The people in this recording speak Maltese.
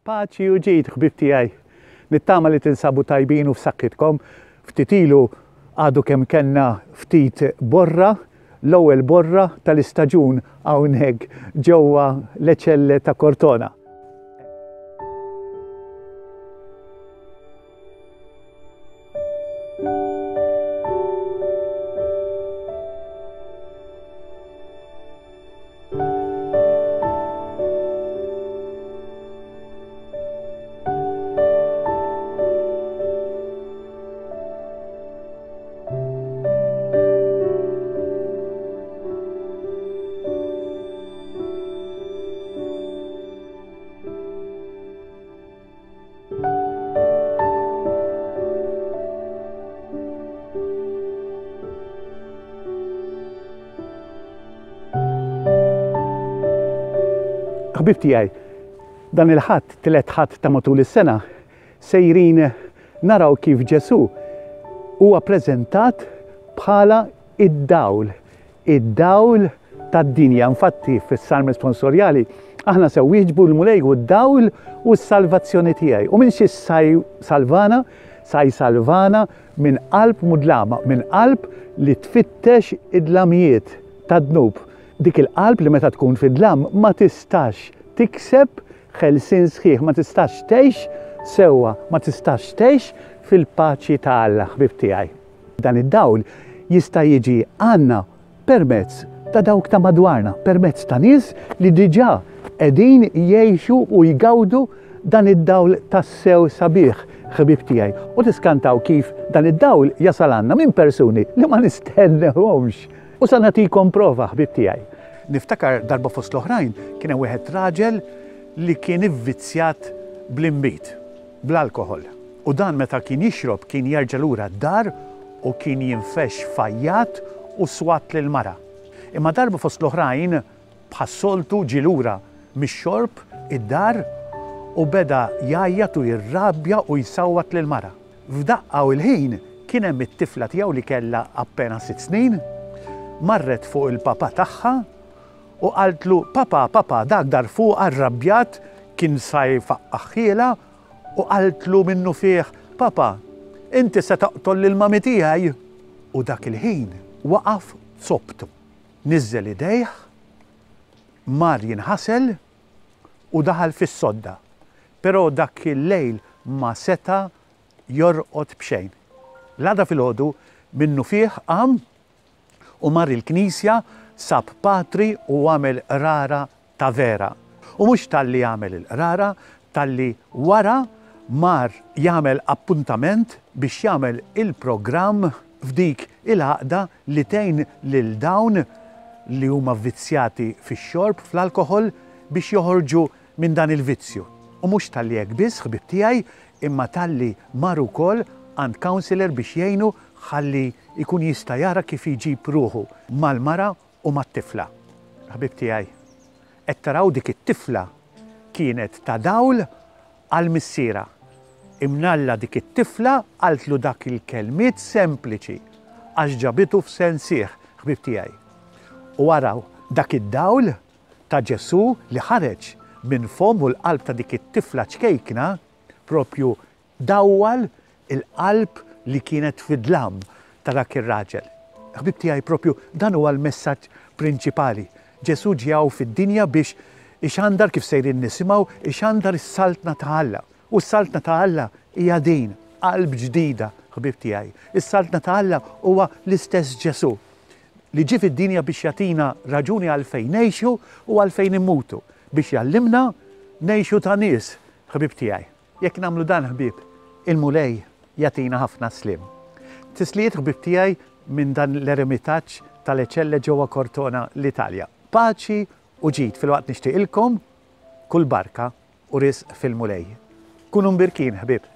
Paċi u ġid, ħbieb tiegħi. Nittama li tinsabu tajbin u f'saħħitkom. Ftit ilu għadu kemm kellna ftit borra, l-ewwel borra tal-istaġun hawnhekk ġewwa Le Celle ta' Cortona. Ħbieb tiegħi, dan il-Ħadd, tielet Ħadd ta' matul is-sena, sejrin naraw kif Ġesù huwa preżentat bħala id-dawl, id-dawl tad-dinja. Infatti fis-Salm responsorjali aħna se wieġbu l-Mulej hu d-dawl u s-salvazzjoni tiegħi. U minn xi salvana? Sa jsalvana minn qalb mudlama, minn qalb li tfittex id-dlamijiet tad-dnub. Dik il-qalb li meta tkun fid-dlam ma tistax tikseb ħelsien sħiħ, ma tistax tgħix sewwa, ma tistax tgħix fil-paċi ta' Alla, ħbieb tiegħi. Dan id-dawl jista' jiġi għandna permezz ta' dawk ta' madwarna, permezz ta' nies li diġà qegħdin jgħixu u jgawdu dan id-dawl tassew sabiħ, ħbieb tiegħi. U tiskantaw kif dan id-dawl jasal għandna minn persuni li ma nistennewhomx. U sa nagħtikom prova, ħbieb tiegħi. Niftakar darba fost l-oħrajn kien hemm wieħed raġel li kien ivvizzjat bl-inbid, bl-alkoħol. U dan meta kien jixrob kien jerġa' lura d-dar u kien jinfexx f'għajjat u swat lill-mara. Imma darba fost l-oħrajn, bħas-soltu ġie lura mix-xorb id-dar u beda jgħajjat u jirrabja u jsawwat lill-mara. F'daqqa u l-ħin kien hemm it-tifla tiegħu li kellha appena sitt snin, marret fuq il-papà tagħha u qaltlu, Papà, papà, dak dar fuqha rrabjat kien sa jfaqqagħhielha U qaltlu minnufih, Papa, inti se toqtol lil mami tiegħi! U dak il-ħin waqaf zopptu, niżżel idejh, mar jinħasel u daħal fis-sodda. Però dak il-lejl ma seta' jorqod b'xejn. L-għada filgħodu minnufih qam u mar il-knisja, sab patri u għamel qrara ta' vera. U mhux talli għamel il-qrara, talli wara mar jagħmel appuntament biex jagħmel il-programm f'dik il-għaqda li tgħin lil dawn li huma vvizzjati fix-xorb, fl-alkoħol, biex joħorġu minn dan il-vizzju. U mhux talli hekk biss, ħbieb tiegħi, imma talli mar ukoll għand counsellor biex jgħinu ħalli jkun jista' jara kif jġib ruħu mal-mara u mat-tifla. Ħbieb tiegħi, qed taraw dik it-tifla kienet ta' dawl għal missierha. Imnalla dik it-tifla qaltlu dak il-kelmiet sempliċi għax ġabitu f'sensih, ħbieb tiegħi. U araw dak id-dawl ta' Ġesù li ħareġ minn fomm u l-qalb ta' dik it-tifla ċkejkna propju Dawwal il-qalb li kienet fid-dlam ta' dak ir-raġel. Ħbieb tiegħi propju dan huwa l-messaġġ prinċipali. Ġesù ġie hawn fid-dinja biex ixandar kif sejrin nisimgħu, ixandar is-Saltna ta' Alla. U s-Saltna ta' Alla hija din, qalb ġdida, ħbieb tiegħi. Is-Saltna ta' Alla huwa l-istess Ġesù li ġie fid-dinja biex jagħtina raġuni għalfejn ngħixu u għalfejn immutu, biex jgħallimna ngħixu ta' nies, ħbieb tiegħi. Jekk nagħmlu dan ħbieb, il-Mulej jagħtina ħafna sliem. Tislijiet ħbieb tiegħi minn dan l-eremitaġġ tal-Ecelle ġewwa Cortona l-Italja. Paċi u ġid filwaqt nixtieqilkom kull barka u risq fil-Mulej. Kunu mbirkin ħbieb.